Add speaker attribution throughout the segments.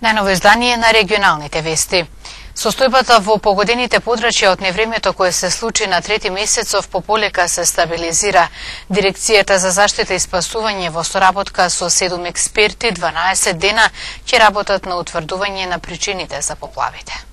Speaker 1: Најново издание на регионалните вести. Состојбата во погодените подрачја од невремето кое се случи на 3 месецов пополека се стабилизира. Дирекцијата за заштита и спасување во соработка со 7 експерти 12 дена ќе работат на утврдување на причините за поплавите.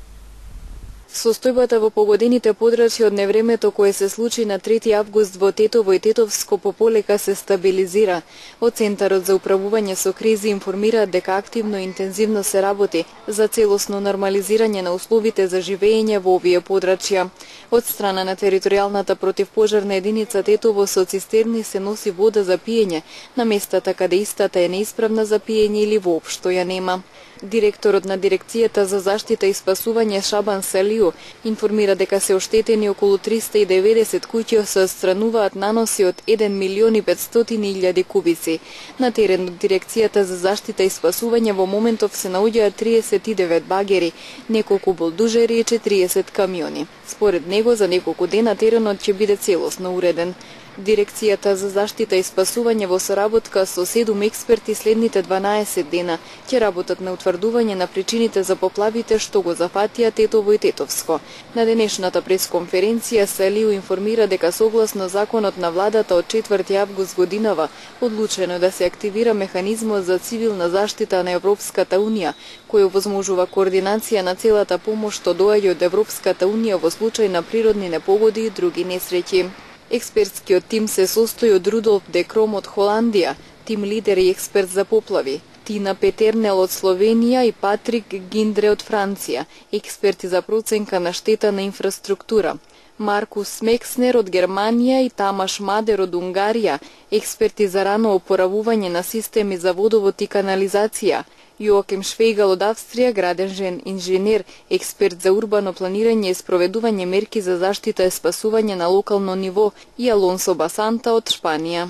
Speaker 2: Состојбата во погодените подрачја од невремето кое се случи на 3 август во Тетово и Тетовско пополека се стабилизира. Од Центарот за управување со кризи информираат дека активно и интензивно се работи за целосно нормализирање на условите за живење во овие подрачја. Од страна на територијалната противпожарна единица Тетово со цистерни се носи вода за пиење на местата каде истата е неисправна за пиење или воопшто ја нема. Директорот на Дирекцијата за заштита и спасување Шабан Салиу информира дека се оштетени околу 390 куќи се отстрануваат наноси од 1.500.000 кубици. На терен од Дирекцијата за заштита и спасување во моментов се наоѓаат 39 багери, неколку булдужери и 40 камиони. Според него за неколку дена теренот ќе биде целосно уреден. Дирекцијата за заштита и спасување во соработка со 7 експерти следните 12 дена ќе работат на утврдување на причините за поплавите што го зафатија Тетово и Тетовско. На денешната пресконференција Салиу информира дека согласно законот на владата од 4 август годинава одлучено да се активира механизмот за цивилна заштита на Европската Унија, кој овозможува координација на целата помош што доаѓа од Европската Унија во случај на природни непогоди и други несреќи. Експертскиот тим се состои од Рудолф де Кром од Холандија, тим лидер и експерт за поплави, Тина Петернел од Словенија и Патрик Гиндре од Франција, експерти за проценка на штета на инфраструктура. Маркус Мекснер од Германија и Тамаш Мадер од Унгарија, експерти за рано опоравување на системи за водовод и канализација. Јоаким Швейгал од Австрија, градежен инженер, експерт за урбано планирање и спроведување мерки за заштита и спасување на локално ниво, и Алонсо Басанта од Шпанија.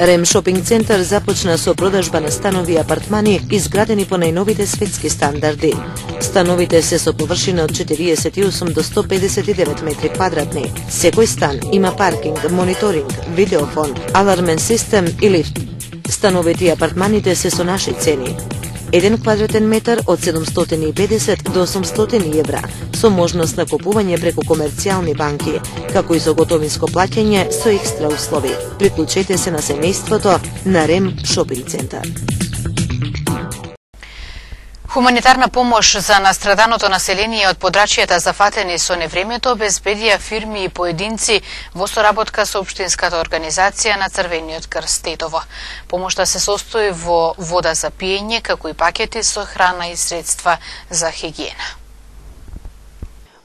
Speaker 3: Рем шопинг центар започна со продажба на станови и апартмани изградени по најновите светски стандарди. Становите се со површина од 48 до 159 метри квадратни. Секој стан има паркинг, мониторинг, видеофон, алармен систем и лифт. Становите и апартманите се со наши цени. 1 квадратен метар од 750 до 800 евра, со можност на купување преку комерцијални банки, како и со готовинско плаќање со екстра услови. Приклучете се на семејството на Рем шопинг центар.
Speaker 1: Хуманитарна помош за настраданото население од подрачјата зафатени со невремето обезбедија фирми и поединци во соработка со Општинската организација на Црвениот крст Тетово. Помошта се состои во вода за пиење, како и пакети со храна и средства за хигиена.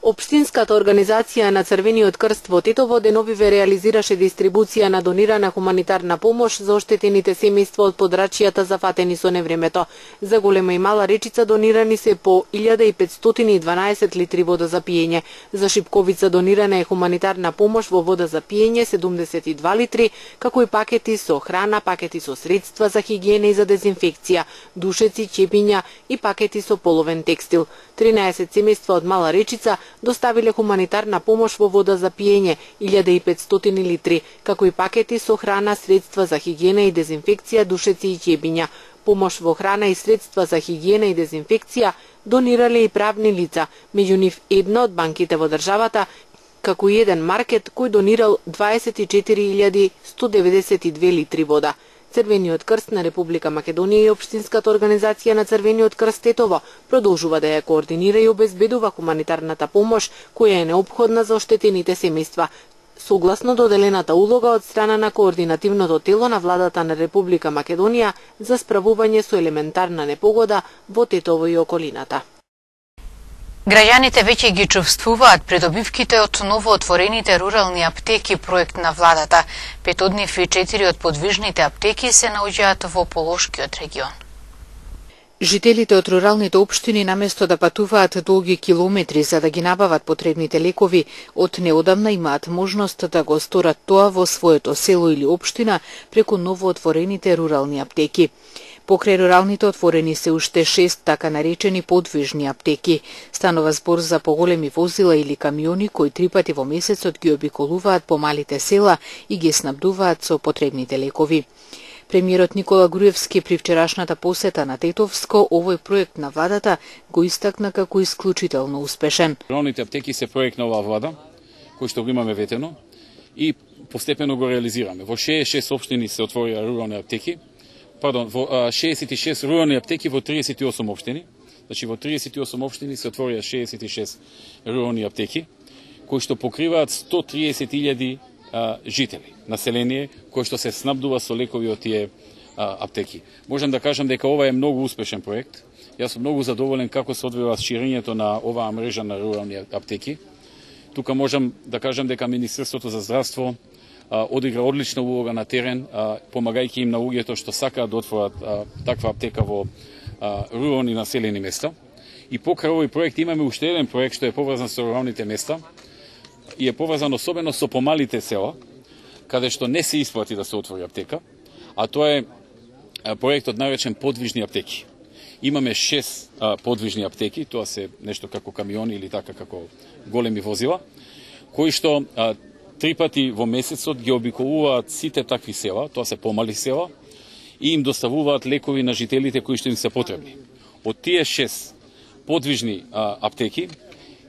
Speaker 4: Општинската организација на Црвениот крст во Тетово деновиве реализираше дистрибуција на донирана хуманитарна помош за оштетените семејства од подрачјата зафатени со невремето. За Голема и Мала Речица донирани се по 1512 литри вода за пиење. За Шипковица донирана е хуманитарна помош во вода за пиење 72 литри, како и пакети со храна, пакети со средства за хигиена и за дезинфекција, душеци, чепиња и пакети со половен текстил. 13 семејства од Мала Речица доставиле хуманитарна помош во вода за пиење 1500 литри, како и пакети со храна, средства за хигиена и дезинфекција, душеци и ќебиња. Помош во храна и средства за хигиена и дезинфекција донирале и правни лица, меѓу нив една од банките во државата, како и еден маркет кој донирал 24.192 литри вода. Црвениот крст на Република Македонија и Општинската организација на Црвениот крст Тетово продолжува да ја координира и обезбедува хуманитарната помош која е неопходна за оштетените семејства, согласно доделената улога од страна на координативното тело на владата на Република Македонија за справување со елементарна непогода во Тетово и околината.
Speaker 1: Граѓаните веќе ги чувствуваат придобивките од новоотворените рурални аптеки, проект на владата. 5 од нив и 4 од подвижните аптеки се наоѓаат во Полошкиот регион.
Speaker 5: Жителите од руралните општини наместо да патуваат долги километри за да ги набават потребните лекови, од неодамна имаат можност да го сторат тоа во своето село или општина преку новоотворените рурални аптеки. Покрај руралните отворени се уште 6 така наречени подвижни аптеки. Станува збор за поголеми возила или камиони кои 3 пати во месецот ги обиколуваат по малите села и ги снабдуваат со потребните лекови. Премиерот Никола Груевски при вчерашната посета на Тетовско овој проект на владата го истакна како исклучително успешен.
Speaker 6: Руралните аптеки се проект на оваа влада, кој што го имаме ветено и постепено го реализираме. Во 66 општини се отворија рурални аптеки, во 66 рурални аптеки во 38 општини. Значи во 38 општини се отворија 66 рурални аптеки, кои што покриваат 130.000 жители, население, кој што се снабдува со лекови од тие аптеки. Можам да кажам дека ова е многу успешен проект. Јас сум многу задоволен како се одвива ширењето на оваа мрежа на рурални аптеки. Тука можам да кажам дека Министерството за здравство одигра одлична улога на терен, помагајќи им на луѓето што сакаат да отворат таква аптека во рурални населени места. И покрај овој проект имаме уште еден проект што е поврзан со руралните места и е поврзан особено со помалите села, каде што не се исплати да се отвори аптека, а тоа е проектот наречен подвижни аптеки. Имаме 6 подвижни аптеки, тоа се нешто како камиони или така како големи возила, кои што 3 пати во месецот ги обиколуваат сите такви села, тоа се помали села, и им доставуваат лекови на жителите кои што им се потребни. Од тие 6 подвижни аптеки,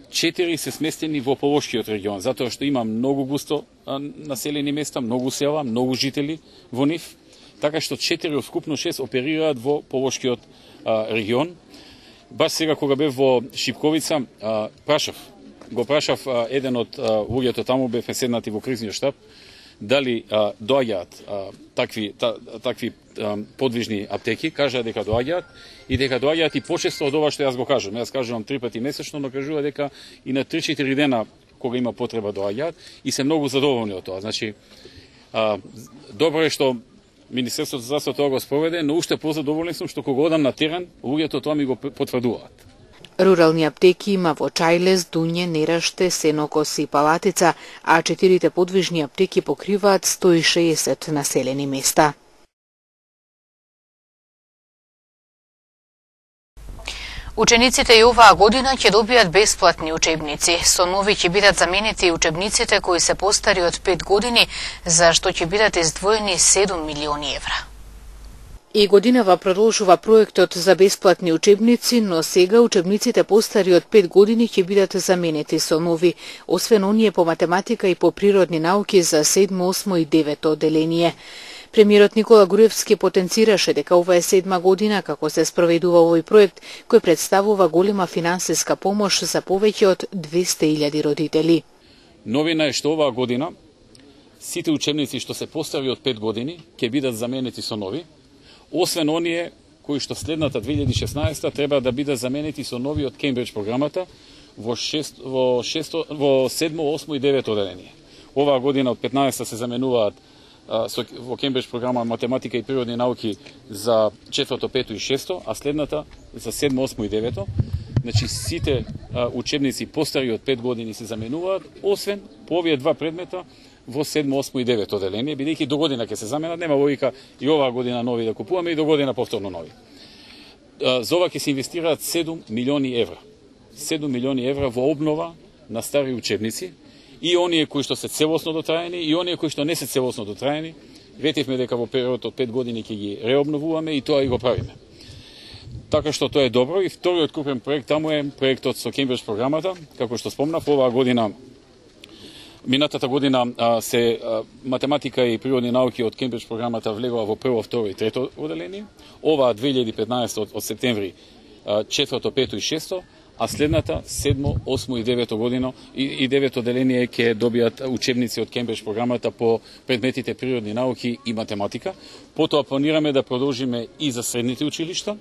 Speaker 6: 4 се сместени во Полошкиот регион, затоа што има многу густо населени места, многу села, многу жители во нив, така што 4 од вкупно 6 оперираат во Полошкиот регион. Баш сега кога бев во Шипковица, го прашав еден од луѓето таму, бевме седнати во кризниот штаб, дали доаѓаат такви подвижни аптеки, кажаа дека доаѓаат и дека доаѓаат и почесто од ова што јас го кажам. Јас кажувам 3 пати месечно, но кажува дека и на 3-4 дена кога има потреба доаѓаат и се многу задоволни од тоа. Значи, добро е што Министерството за здравство тоа го спроведе, но уште позадоволен сум што кога одам на терен, луѓето тоа ми го потврдуваат.
Speaker 5: Рурални аптеки има во Чајлес, Дуње, Нераште, Сенокос и Палатица, а 4 подвижни аптеки покриваат 160 населени места.
Speaker 1: Учениците и оваа година ќе добијат бесплатни учебници. Со нови ќе бидат заменети учебниците кои се постари од 5 години, за што ќе бидат издвоени 7 милиони евра.
Speaker 5: И годинава продолжува проектот за бесплатни учебници, но сега учебниците постари од 5 години ќе бидат заменети со нови, освен оние по математика и по природни науки за 7, 8 и 9 одделение. Премиерот Никола Груевски потенцираше дека ова е 7 година како се спроведува овој проект, кој представува голема финансиска помош за повеќе од 200.000 родители.
Speaker 6: Новина е што оваа година сите учебници што се постари од 5 години ќе бидат заменети со нови, освен оние кои што следната 2016 треба да бидат заменети со нови од Кембридж програмата во 7, 8 и 9 одделение. Оваа година од 15 се заменуваат во Кембридж програма математика и природни науки за 4, 5 и 6, а следната за 7, 8 и 9. Значи сите учебници постари од 5 години се заменуваат, освен по овие два предмета во 7, 8 и 9 одделение, бидејќи до година ќе се заменат, нема логика и оваа година нови да купуваме и до година повторно нови. За ова ќе се инвестираат 7 милиони евра. 7 милиони евра во обнова на стари учебници, и оние кои што се целосно дотраени и оние кои што не се целосно дотраени. Ветивме дека во период од 5 години ќе ги реобновуваме и тоа и го правиме. Така што тоа е добро. И вториот крупен проект таму е проектот со Кембридж програмата, како што спомнав, оваа година, минатата година се математика и природни науки од Кембридж програмата влегува во прво, второ и трето одделение. Оваа 2015 од септември 4, 5 и 6, а следната 7, 8 и 9 година и 9 одделение ќе добијат учебници од Кембридж програмата по предметите природни науки и математика. Потоа планираме да продолжиме и за средните училишта,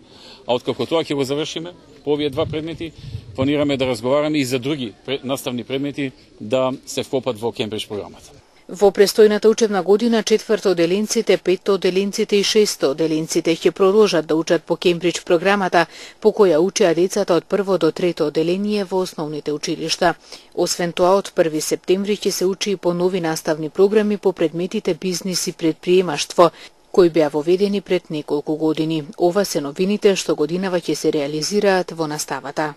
Speaker 6: а откако тоа ќе го завршиме по овие два предмети, планираме да разговараме и за други наставни предмети да се вкопат во Кембридж програмата.
Speaker 5: Во престојната учебна година 4 одделенците, 5 одделенците и 6 одделенците ќе продолжат да учат по Кембридж програмата, по која учеа децата од 1 до 3 одделение во основните училишта. Освен тоа, од 1 септември ќе се учи и по нови наставни програми по предметите бизнис и предприемаштво, кои беа воведени пред неколку години. Ова се новините што годинава ќе се реализираат во наставата.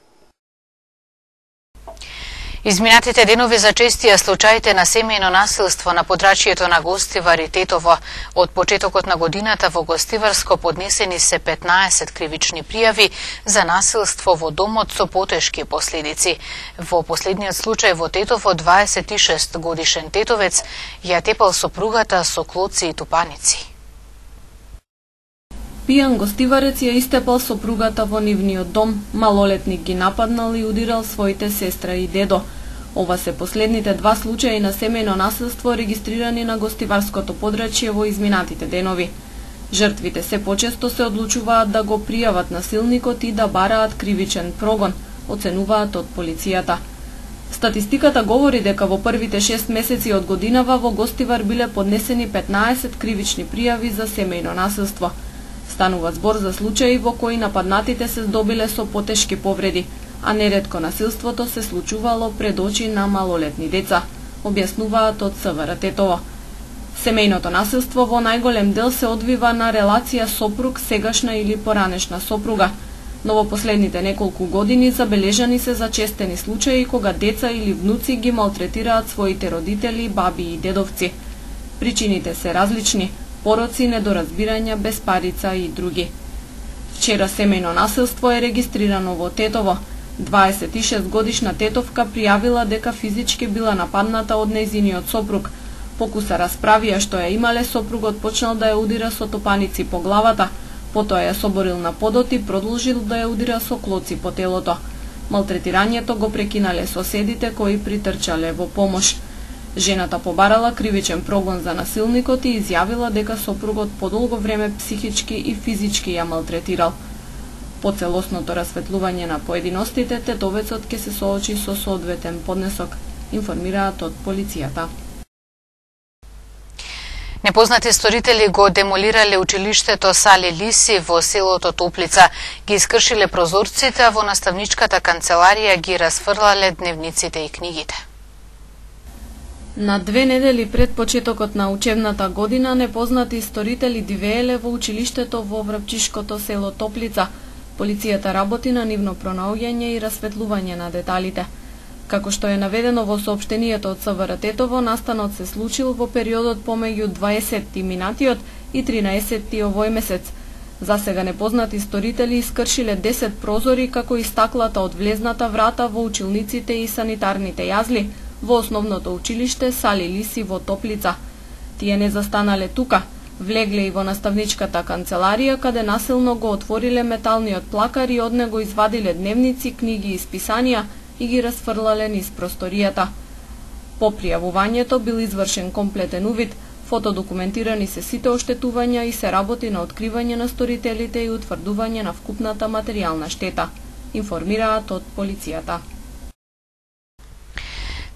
Speaker 1: Изминатите денови зачестија случаите на семејно насилство на подрачјето на Гостивар и Тетово. Од почетокот на годината во Гостиварско поднесени се 15 кривични пријави за насилство во домот со потешки последици. Во последниот случај во Тетово 26 годишен тетовец ја тепал сопругата со клоци и тупаници.
Speaker 7: Пијан гостиварец ја истепал сопругата во нивниот дом, малолетник ги нападнал и удирал своите сестра и дедо. Ова се последните два случаи на семејно насилство регистрирани на Гостиварското подрачје во изминатите денови. Жртвите се почесто се одлучуваат да го пријават насилникот и да бараат кривичен прогон, оценуваат од полицијата. Статистиката говори дека во првите 6 месеци од годинава во Гостивар биле поднесени 15 кривични пријави за семејно насилство. Станува збор за случаи во кои нападнатите се здобиле со потешки повреди, а неретко насилството се случувало пред очи на малолетни деца, објаснуваат од СВР Тетово. Семејното насилство во најголем дел се одвива на релација сопруг, сегашна или поранешна сопруга, но во последните неколку години забележани се зачестени случаи кога деца или внуци ги малтретираат своите родители, баби и дедовци. Причините се различни: пороци, недоразбирања, безпарица и други. Вчера семејно насилство е регистрирано во Тетово. 26 годишна тетовка пријавила дека физички била нападната од нејзиниот сопруг. Покуса расправија што ја имале, сопругот почнал да ја удира со топаници по главата, потоа ја соборил на подот и продолжил да ја удира со клоци по телото. Малтретирањето го прекинале соседите кои притрчале во помош. Жената побарала кривичен прогон за насилникот и изјавила дека сопругот подолго време психички и физички ја малтретирал. По целосното расветлување на поединостите, тетовецот ќе се соочи со соодветен поднесок, информираат од полицијата.
Speaker 1: Непознати сторители го демолирале училиштето Сали Лиси во селото Топлица, ги искршиле прозорците, а во наставничката канцеларија ги расфрлале дневниците и книгите.
Speaker 7: На 2 недели пред почетокот на учебната година, непознати сторители дивееле во училиштето во врапчишкото село Топлица. Полицијата работи на нивно пронаоѓање и расветлување на деталите. Како што е наведено во соопштението од СВР Тетово, настанот се случил во периодот помеѓу 20 минатиот и 13 овој месец. Засега непознати сторители искршиле 10 прозори како и стаклата од влезната врата во училниците и санитарните јазли во основното училиште Сали Лиси во Топлица. Тие не застанале тука, влегле и во наставничката канцеларија, каде насилно го отвориле металниот плакар и од него извадиле дневници, книги и списанија и ги расфрлале низ просторијата. По пријавувањето бил извршен комплетен увид, фотодокументирани се сите оштетувања и се работи на откривање на сторителите и утврдување на вкупната материјална штета, информираат од полицијата.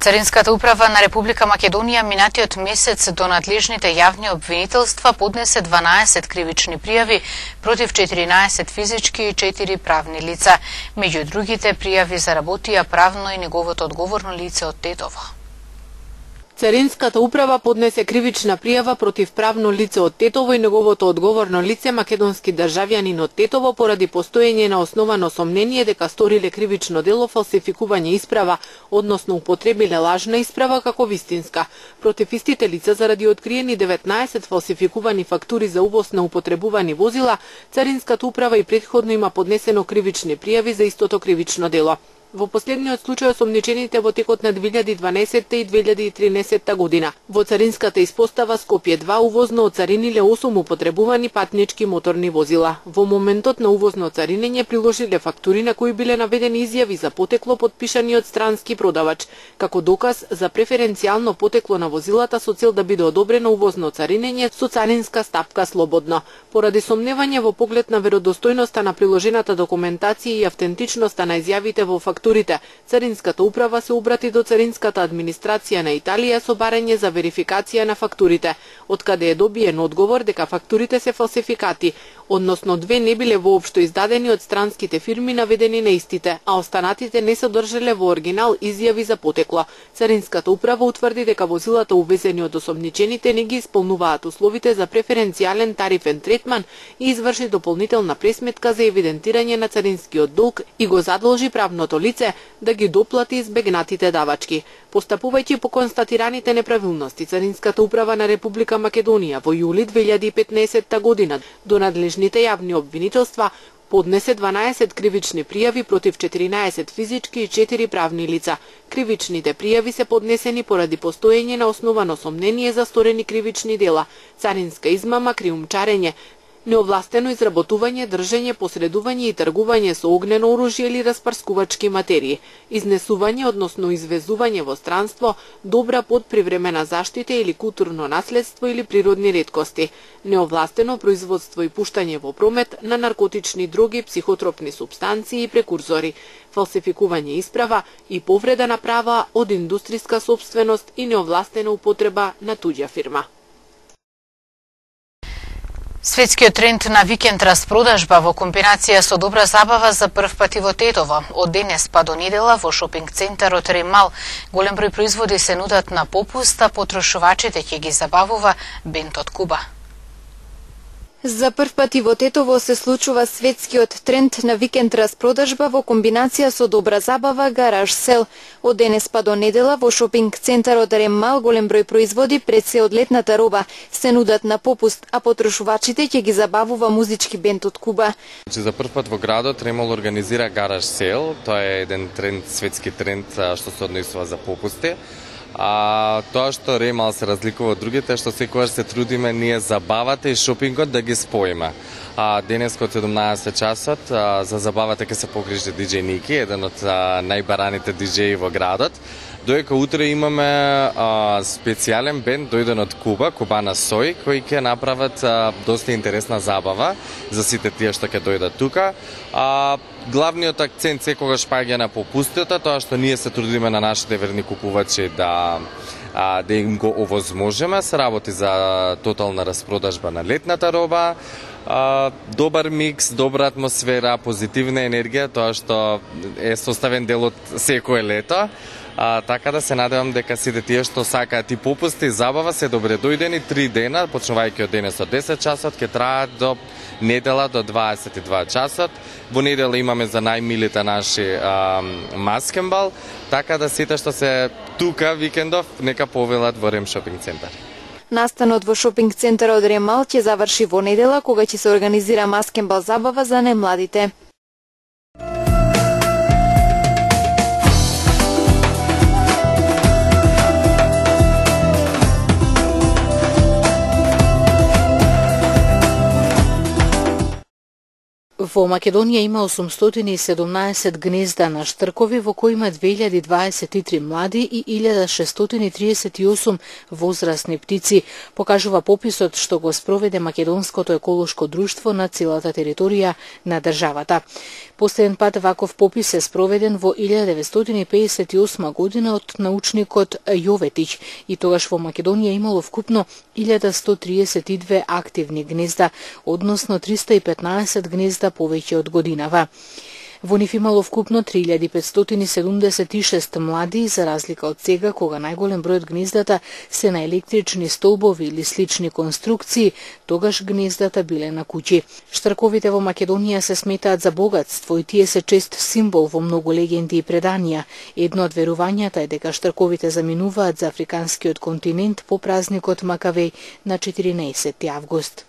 Speaker 1: Царинската управа на Република Македонија минатиот месец до надлежните јавни обвинителства поднесе 12 кривични пријави против 14 физички и 4 правни лица. Меѓу другите пријави заработија правно и неговото одговорно лице од Тетово.
Speaker 4: Царинската управа поднесе кривична пријава против правно лице од Тетово и неговото одговорно лице, македонски државјанин од Тетово, поради постоење на основано сомнение дека сториле кривично дело фалсификување исправа, односно употребиле лажна исправа како вистинска. Против истите лица заради откриени 19 фалсификувани фактури за увоз на употребувани возила, Царинската управа и претходно има поднесено кривични пријави за истото кривично дело. Во последниот случај осомничените во текот на 2012 и 2013 година. Во царинската испостава Скопје 2 увозно оцариниле 8 употребувани патнички моторни возила. Во моментот на увозно царинење приложиле фактури на кои биле наведени изјави за потекло подпишани од странски продавач, како доказ за преференцијално потекло на возилата со цел да биде одобрено увозно царинење со царинска стапка слободно. Поради сомневање во поглед на веродостојноста на приложената документација и автентичноста на изјавите во фактурите, Царинската управа се обрати до Царинската администрација на Италија со барање за верификација на фактурите, откаде е добиен одговор дека фактурите се фалсификати. односно 2 не биле воопшто издадени од странските фирми наведени на истите, а останатите не содржале во оригинал изјави за потекло. Царинската управа утврди дека возилата увезени од осомничените не ги исполнуваат условите за преференцијален тарифен третман и изврши дополнителна пресметка за евидентирање на царинскиот долг и го задолжи правното лице да ги доплати избегнатите давачки. Постапувајќи по констатираните неправилности, Царинската управа на Република Македонија во јули 2015 година до надлежните јавни обвинителства поднесе 12 кривични пријави против 14 физички и 4 правни лица. Кривичните пријави се поднесени поради постоење на основано сомнение за сторени кривични дела, царинска измама, криумчарење, неовластено изработување, држење, посредување и тргување со огнено оружје или распарскувачки материи, изнесување, односно извезување во странство, добра под привремена заштита или културно наследство или природни реткости, неовластено производство и пуштање во промет на наркотични дроги, психотропни супстанции и прекурзори, фалсификување исправа и повреда на права од индустријска сопственост и неовластена употреба на туѓа фирма.
Speaker 1: Светскиот тренд на викенд распродажба во комбинација со добра забава за прв пат и во Тетово. Од денес па до недела во шопинг центарот Ремал голем број производи се нудат на попуст, а потрошувачите ќе ги забавува бент од Куба.
Speaker 2: За прв пат и во Тетово се случува светскиот тренд на викенд распродажба во комбинација со добра забава гараж сел. Од денес па до недела во шопинг центарот Ремал голем број производи пред се од летната роба се нудат на попуст, а потрошувачите ќе ги забавува музички бенд од Куба.
Speaker 8: За прв пат во градот Ремал организира гараж сел. Тоа е еден тренд, светски тренд што се однесува за попусти. А тоа што Ремал се разликува од другите, што секогаш се трудиме ние забавата и шопингот да ги споиме. Денес од 17 часот за забавата ќе се погрижи диџеј Ники, еден од најбараните диџеи во градот. Доека утре имаме специјален бенд дојден од Куба, Кубана Сој, кои ќе направат доста интересна забава за сите тие што ќе дојдат тука. Главниот акцент секогаш паѓа на попустите, тоа што ние се трудиме на нашите верни купувачи да им го овозможиме, се работи за тотална распродажба на летната роба, добар микс, добра атмосфера, позитивна енергија, тоа што е составен дел од секое лето. Така да се надевам дека сите тие што сакаат и попусти и забава се добре дојдени 3 дена, почнувајќи од денес од 10 часот, ќе траат до недела до 22 часот. Во недела имаме за најмилите наши маскенбал, така да сите што се тука викендов нека повелат во Рем шопинг центар.
Speaker 2: Настанот во шопинг центарот Ремал ќе заврши во недела кога ќе се организира маскенбал забава за најмладите.
Speaker 5: Во Македонија има 817 гнезда на штркови, во кои има 2023 млади и 1638 возрастни птици, покажува пописот што го спроведе Македонското еколошко друштво на целата територија на државата. Последен пат ваков попис е спроведен во 1958 година од научникот Јоветич и тогаш во Македонија имало вкупно 1132 активни гнезда, односно 315 гнезда повеќе од годинава. Во нив имало вкупно 3576 млади, за разлика од сега, кога најголем број од гнездата се на електрични столбови или слични конструкции, тогаш гнездата биле на куќи. Штрковите во Македонија се сметаат за богатство и тие се чест символ во многу легенди и преданија. Едно од верувањата е дека штрковите заминуваат за африканскиот континент по празникот Макавеј на 14 август.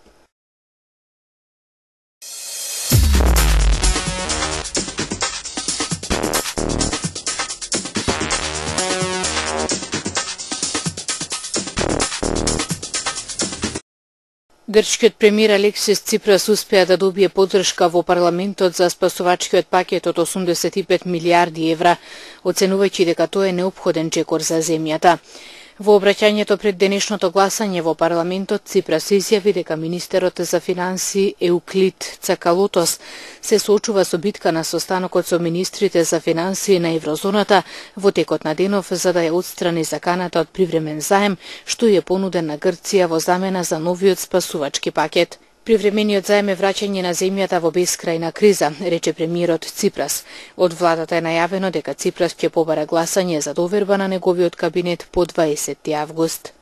Speaker 5: Грчкиот премиер Алексис Ципрас успеа да добие поддршка во парламентот за спасувачкиот пакет од 85 милиарди евра, оценувајќи дека тоа е неопходен чекор за земјата. Во обраќањето пред денешното гласање во парламентот, Ципрас изјави дека министерот за финансии Еуклид Цакалотос се соочува со битка на состанокот со министрите за финансии на еврозоната во текот на денов за да ја отстрани заканата од привремен заем што ја понуден на Грција во замена за новиот спасувачки пакет. Привремениот заем е враќање на земјата во бескрајна криза, рече премиерот Ципрас. Од владата е најавено дека Ципрас ќе побара гласање за доверба на неговиот кабинет по 20 август.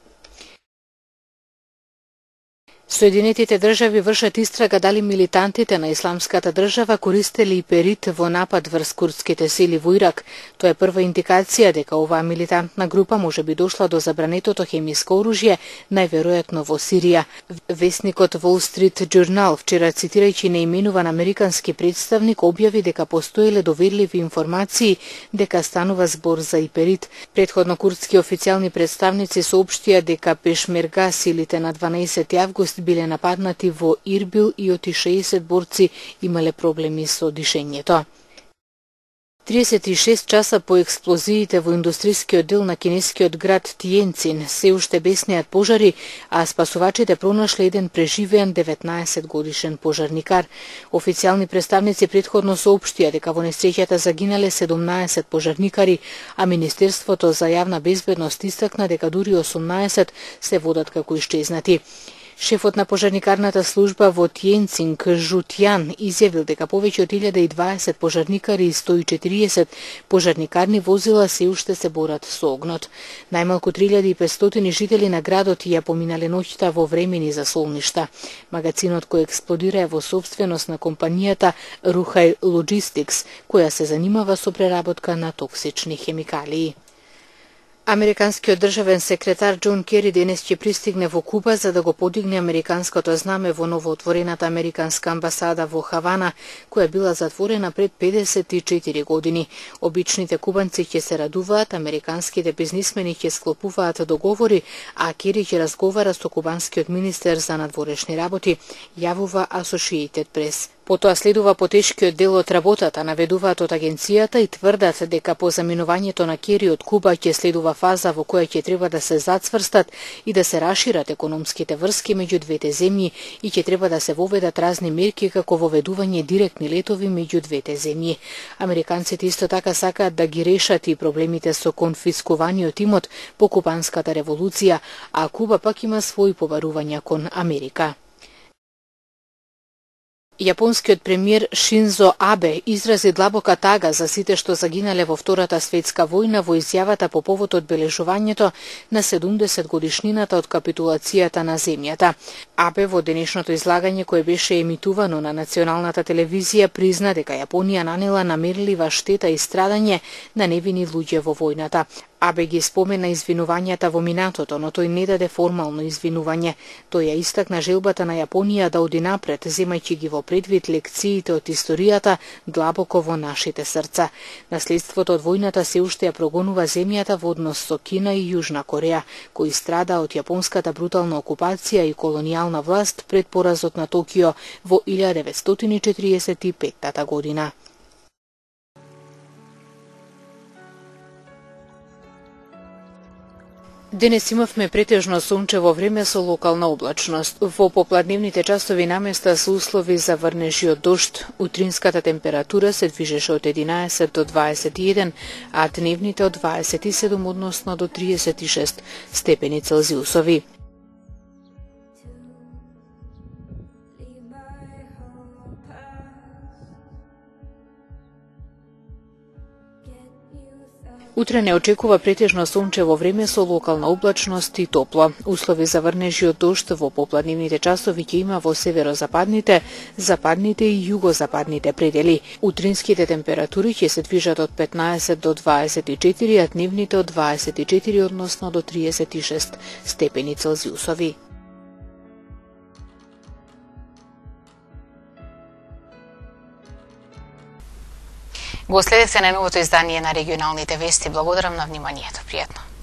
Speaker 5: Соединетите држави вршат истрага дали милитантите на Исламската држава користели иперит во напад врз курдските сили во Ирак. Тоа е прва индикација дека оваа милитантна група може би дошла до забранетото хемиско оружје, најверојатно во Сирија. Весникот Wall Street Journal вчера, цитирајќи неименуван американски представник, објави дека постоеле доверливи информации дека станува збор за иперит. Претходно курдски официјални представници соопштија дека пешмерга силите на 12 август биле нападнати во Ирбил и оти 60 борци имале проблеми со дишењето. 36 часа по експлозиите во индустрискиот дел на кинескиот град Тиенцин се уште беснеат пожари, а спасувачите пронашле еден преживеан 19 годишен пожарникар. Официјални представници претходно соопштија дека во несреќата загинале 17 пожарникари, а Министерството за јавна безбедност истакна дека дури 18 се водат како исчезнати. Шефот на пожарникарната служба во Тиенцин, Жутјан, изјавил дека повеќе од 1020 пожарникари и 140 пожарникарни возила се уште се борат со огнот. Најмалку 3500 жители на градот ја поминале ноќта во времени за солништа. Магазинот кој експлодира е во собственост на компанијата Ruhai Logistics, која се занимава со преработка на токсични хемикалии. Американскиот државен секретар Џон Кери денес ќе пристигне во Куба за да го подигне американското знаме во новоотворената американска амбасада во Хавана, која била затворена пред 54 години. Обичните кубанци ќе се радуваат, американските бизнисмени ќе склопуваат договори, а Кери ќе разговара со кубанскиот министер за надворешни работи, јавува Associated Press. Потоа следува потешкиот дел од работата, наведуваат од агенцијата и тврдат дека по заминувањето на Кери од Куба ќе следува фаза во која ќе треба да се зацврстат и да се расшират економските врски меѓу двете земји и ќе треба да се воведат разни мерки како воведување директни летови меѓу двете земји. Американците исто така сакаат да ги решат и проблемите со конфискуваниот имот по кубанската револуција, а Куба пак има своји побарувања кон Америка. Јапонскиот премиер Шинзо Абе изрази длабока тага за сите што загинале во Втората светска војна во изјавата по повод одбележувањето на 70 годишнината од капитулацијата на земјата. Абе во денешното излагање кое беше емитувано на националната телевизија призна дека Јапонија нанела намерлива штета и страдање на невини луѓе во војната. Абе ги спомена извинувањата во минатото, но тој не даде формално извинување. Тој ја истакна желбата на Јапонија да оди напред, земајќи ги во предвид лекциите од историјата длабоко во нашите срца. Наследството од војната се уште ја прогонува земјата во однос со Кина и Јужна Кореја, кои страда од јапонската брутална окупација и колонијална власт пред поразот на Токио во 1945 година. Денес имавме претежно сончево време со локална облачност. Во попладневните часови наместа се услови за врнежи од дожд. Утринската температура се движеше од 11 до 21, а дневните од 27 односно до 36 степени Целзиусови. Утре не очекува претежно сончево време со локална облачност и топло. Услови за врнежи од дожд во попладневните часови ќе има во северозападните, западните и југозападните предели. Утринските температури ќе се движат од 15 до 24, а дневните од 24 односно до 36 степени Целзиусови.
Speaker 1: Го следевте најновото издание на регионалните вести. Благодарам на вниманието. Пријатно.